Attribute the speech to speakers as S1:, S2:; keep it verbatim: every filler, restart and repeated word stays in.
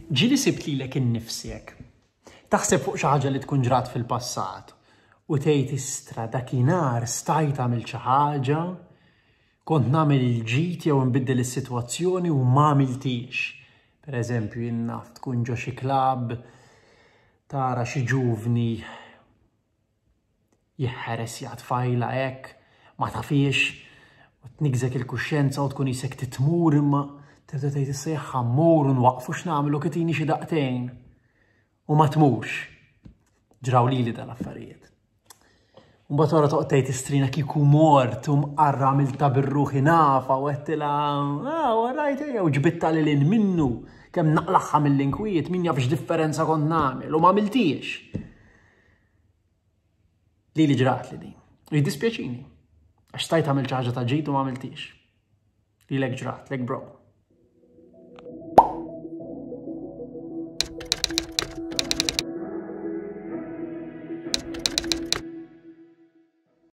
S1: Ġieli sibt lilek innifsek taħseb fuq xi ħaġa li tkun ġrat fil-passat u tgħid, "Istra, dakinhar stajt għamil xi ħaġa, kont nagħmel il-ġid jew nbiddel is-sitwazzjoni u ma għamiltix"? Per eżempju, jien naf, tkun ġo xi klabb, tara xi ġuvni jeħħeres tfajla hekk, ma tafix, u tnigżek il-kuxjenza u tkun qisek tmur, imma tibda tgħid, "Issa jekk immur u nwaqfu, x'nagħmlu, kitini xi daqtejn." U ma tmurx. Ġraw lili dal-affarijiet. Mbagħad wara toqgħod tgħid, "Istrina, kieku mort u mqarra għamilta bir-ruħi nafa u għedtilha, ah, rajt, u ġbidtha lil hinn minnu, kemm naqlagħha mill-inkwiet, min jaf x'differenza kont nagħmel", u ma għamiltix. Li li ġrat li din. U jiddispjaċini. Għax stajt għamil ħaġa ta' ġid u ma għamiltix. Lilek ġratlek, bro?